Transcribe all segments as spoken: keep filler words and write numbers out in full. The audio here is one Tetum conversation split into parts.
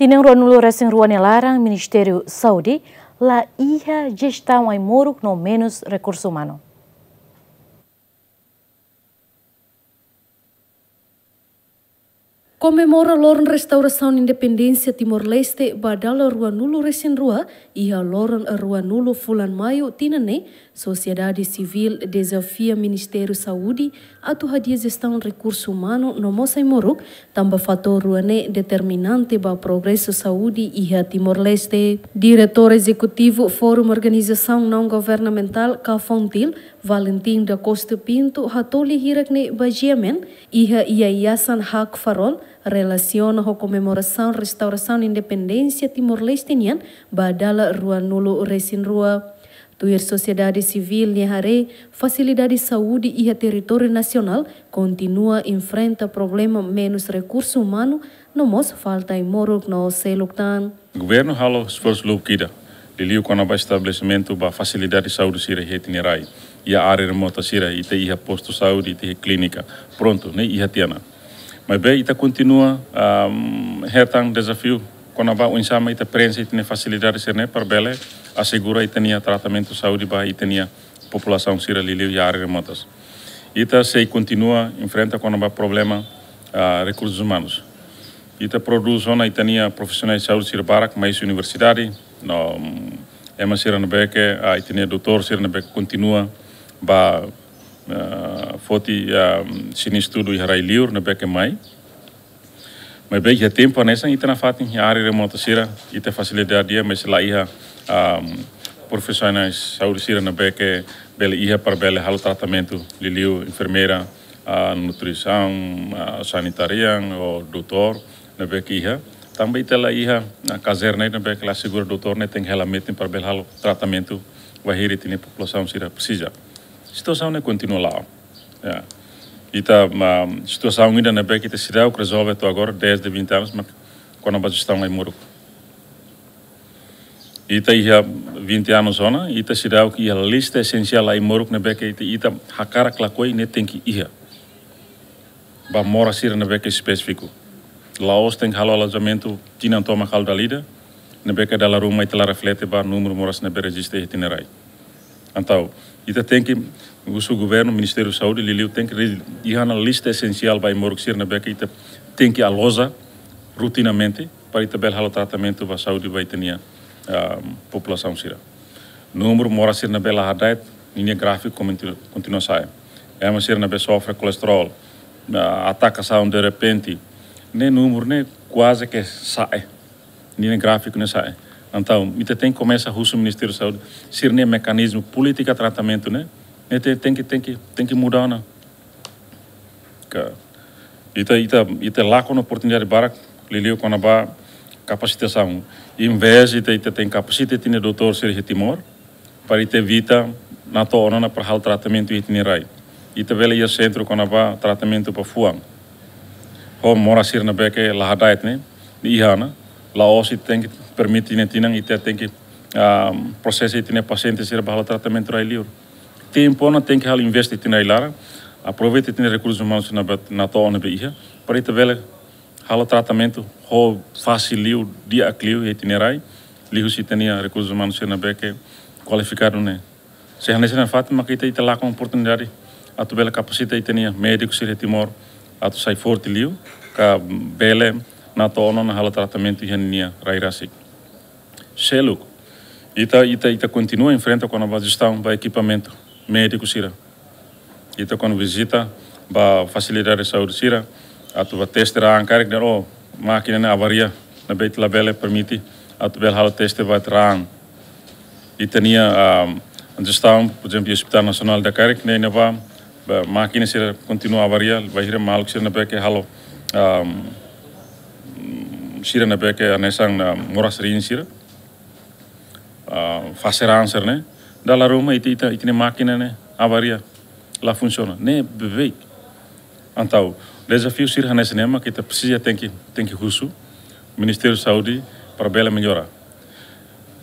Tinan ruanulu resin rua nia laran, Ministériu Saúde la iha jestaun ai-moruk no menus rekursu umanu. Komemora loron restaurasaun independénsia Timor-Leste ba dala ruanulu resin rua, iha loron ruanulu fulan Maiu tinan ne'e, sosiedade sivíl dezafia Ministériu Saúde atu hadi'a jestaun rekursu umanu no mós ai-moruk, tanba fatór rua ne'e determinante ba progresu saúde iha Timor-Leste. Diretór Ezekutivu Fórum Organizasaun Naun Governamentál ka FONGTIL, Valentim da Costa Pinto, hato'o lia hirak ne'e ba GMN iha Yayasan Hak Farol, relasiona ho komemorasaun restaurasaun independénsia Timor-Leste nian ba dala ruanulu resin rua. Tuir sosiedade sivíl nia haree, fasilidade saúde iha territóriu nasionál kontinua enfrenta problema menus rekursu umanu, no mós falta ai-moruk no seluk tan. Governu halo esforsu lubuk ida, liuliu kona-ba estabelesimentu ba fasilidade saúde sira iha ita-nia rai. Iha área remota sira, ita iha postu saúde, ita iha klínika. Prontu, ne'e iha tiha ona. Maibé ita kontinua, ahm, hetan dezafiu kona-ba oinsá mak ita preenxe ita-nia fasilidade sira-ne'e para bele asegura ita-nia tratamentu saúde ba ita-nia populasaun sira liuliu iha área remotas. Ita sei kontinua enfrenta kona-ba problema, ah, rekursus umanus. Ita prodús ona ita-nia profisionál saúde sira barak mai husi universidade, no, mm, ema sira ne'ebé ke, ah, ita-nia doutór sira ne'ebé ke kontinua ba, ah, foti, ah, sira-nia estudu iha rai-liur ne'ebé ke mai. Maibé iha tempu hanesan ita nafatin iha área remota sira, ita fasilidade di'ak, mas la iha, ah, profisionál saúde sira ne'ebé ke bele iha para bele halo tratamentu, liuliu enfermeira, ah, nutrisaun, ah, sanitarian, ou doutór, ne'ebé ke iha. Tanba ita la iha, ah, kazerna ne'ebé ke la asegura doutór ne'e tenke hela metin para bele halo tratamentu wainhira ita-nia populasaun sira presiza. Situasaun ne'e kontinua la'o. Ya. Ita, ah, situasaun ida ne'ebé ke ita seidauk rezolve to'o agora, desde vinte anos, mak kona-ba jestaun ai-moruk. Ita iha vinte anos ona, ita seidauk iha lista esensiál ai-moruk ne'ebé ke ita, ita hakarak lakohi ne'e tenke iha. Ba moras sira ne'ebé ke espesífiku. La'ós tenke halo alojamentu tinan tomak halo dala ida, ne'ebé ke dala ruma ita la reflete ba númeru moras ne'ebé rejista iha ita-nia rai. Entaun, ita tenke, husu governu, Ministériu Saúde, liuliu tenke re-, iha ona lista esensiál ba ai-moruk sira ne'ebé ke ita tenke aloja rotinamente, para ita bele halo tratamentu ba saúde ba ita-nia, ah, populasaun sira. Númeru moras sira ne'ebé la hada'et, ninia gráfiku kontinua, kontinua sa'e. Ema sira ne'ebé sofre kolesterol, ah, atakasaun derrepente, ne'e númeru ne'e kuaze ke sa'e. Ninia gráfiku ne'e sa'e. Entaun, ita tenke komesa husu Ministériu Saúde, sira-nia mekanizmu polítika tratamentu ne'e, ne'e te-, tenke, tenke, tenke muda ona. Ka, ita, ita, ita lakon oportunidade barak, liuliu kona-ba kapasitasaun. Envezde ita, ita tenke kapasita ita-nia doutór sira iha Timor, para ita evita nato'o ona para halo tratamentu iha ita-nia rai. Ita bele iha sentru kona-ba tratamentu ba fuan. Ho moras sira ne'ebé ke la hada'et ne'e, ne'e iha ona, la'ós ita tenke permite ne'e tinan, ita tenke, ah, prosesa ita-nia pasiente sira ba halo tratamentu rai-liur. Tempu ona tenke halo investe ita-nia rai-laran, aproveita ita-nia rekursus umanus sira ne'ebé nato'o ne'ebé iha, para ita bele halo tratamentu ho fasil liu, di'ak liu iha ita-nia rai, liuhusi ita-nia rekursus umanus sira ne'ebé ke kualifikadu ne'e. Se hanesan ne'e fatin mak ita, ita lakon oportunidade atu bele kapasita ita-nia médiku sira iha Timor atu sai forte liu, ka bele nato'o ona halo tratamentu iha nia rai rasik. Seluk, ita, ita, ita kontinua enfrenta kona-ba jestaun ba ekipamentu médiku sira. Ita kuandu vizita ba fasilidade saúde sira, atu ba teste raan karik dehan, oh, mákina ne'e avaria, ne'ebé ita labele permite atu bele halo teste ba raan. Ita-nia, ah, jestaun, por ezemplu, Hospital Nasionál Dakairek, ne'e, ne'ebá, ba, mákina sira kontinua avaria, bainhira maluk sira ne'ebé ke halo, ah, sira ne'ebé ke hanesan, ah, moras riin sira, ah, fase raan sira-ne'e, dala ruma ita, ita, ita-nia mákina ne'e avaria, la funsiona. Ne'e beibeik. Entaun, dezafiu sira hanesan ne'e mak ita presiza tenke, tenke husu Ministériu Saúde para bele mellora.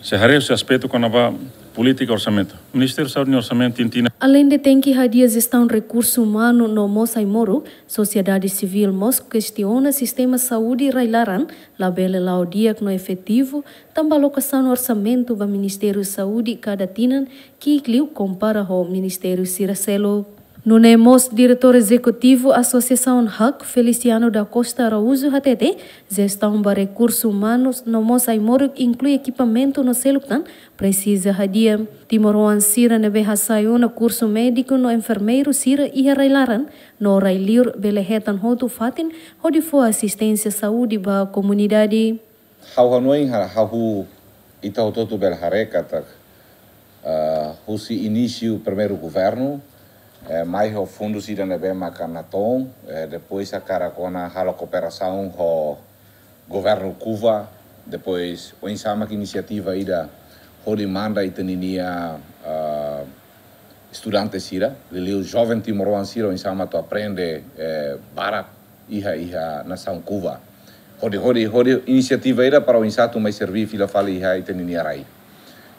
Se haree husi aspetu kona-ba Polítika orsamentu. Ministériu Saúde nia orsamentu tintina. Aleinde tenke hadi'a jestaun rekursu umanu no mós ai-moruk, sosiedade sivíl mós kestiona sistema saúde rai-laran, labele la'o di'ak no efetivu, tanba alokasaun orsamentu ba Ministériu Saúde kada tinan ki'ik liu kompara ho ministériu sira seluk. Nune'e mós Diretór Ezekutivu Asosiasaun hak, Feliciano da Costa Araújo hatete, jestaun ba rekursu umanus no mós ai-moruk inklui ekipamentu no seluk tan presiza hadi'a. Timoroan sira ne'ebé hasai ona kursu médiku no enfermeiru sira iha rai-laran no rai-liur bele hetan hotu fatin hodi fó asisténsia saúde ba komunidade. Ha'u hanoin ha-, ha'u ita hotu-hotu bele haree katak, ah, husi inísiu primeiru governu, eh, mai ho fundus ida ne'ebé maka natoon, eh, depois hakarak ona halo kooperasaun ho governu Kuva, depois oinsá mak inisiativa ida hodi manda ita ninia, ah, estudante sira, liuliu joven timoroan sira oinsá mak atu aprende, eh, barak iha, iha nasaun Kuva. Hodi, hodi, hodi inisiativa ida para oinsá atu mai serví fila fali iha ita ninia rai.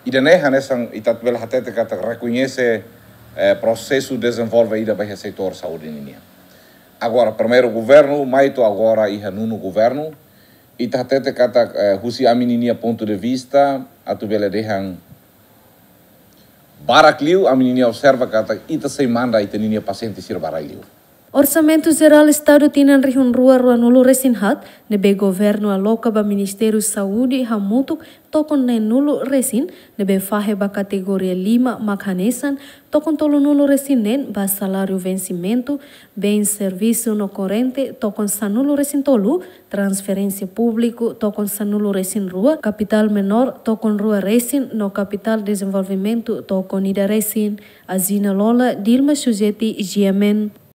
Ida-ne'e hanesan ita bele hatete katak rekoñese, eh, prosesu dezenvolve ida ba iha setór saúde ninia. Agora, primeiru governu, mai to'o agora iha nonu governu, ita hatete katak, eh, husi ami ninia pontu de vista, atu bele dehan barak liu, ami ninia observa katak ita sei manda ita ninia pasiente sira ba rai-liur. Orsamentu Jerál Estadu tinan rihun rua ruanulu resin haat, ne'ebé governu aloka ba Ministériu Saúde hamutuk tokon neenulu resin, ne'ebé fahe ba kategoria lima mak hanesan, tokon tolunulu resin neen ba saláriu vensimentu, bens servisu no korrente, tokon sanulu resin tolu, transferénsia públiku, tokon sanulu resin rua, kapitál menór, tokon rua resin, no kapitál dezenvolvimentu, tokon ida resin. Azina Lola, Dilma Sujeti, G M N.